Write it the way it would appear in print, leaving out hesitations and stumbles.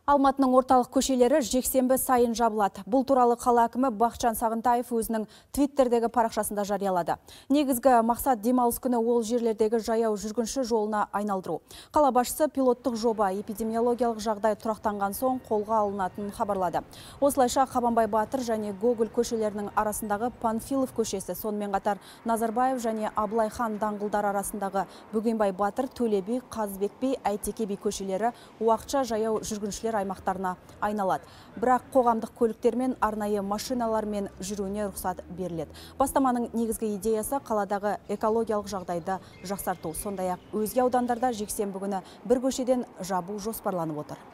Алматының орталық көшелері жексенбі сайын жабылады. Бұл туралы қала әкімі Бақытжан Сағынтаев өзінің Твиттердегі парақшасында жариялады. Негізгі мақсат демалыс күні ол жерлердегі жаяу жүргінші жолына айналдыру. Қала басшысы пилоттық жоба эпидемиологиялық жағдай тұрақтанған соң қолға алынатынын хабарлады. Осылайша Қабанбай Батыр және Гоголь көшелерінің арасындағы Панфилов көшесі, сонымен қатар Назарбаев және Абылай хан даңғылдар арасындағы Бөгенбай Батыр, Төле би, Қазыбек би, Әйтеке би көшелері уақытша жаяу жүргіншілер аймақтарына айналады. Бірақ қоғамдық көліктермен арнайы машиналармен жүруіне рұқсат беріледі. Бастаманың негізгі идеясы қаладағы экологиялық жағдайды жақсарту. Сондай-ақ өзге аудандарда жексенбі күні бір көшеден жабу жоспарланып отыр.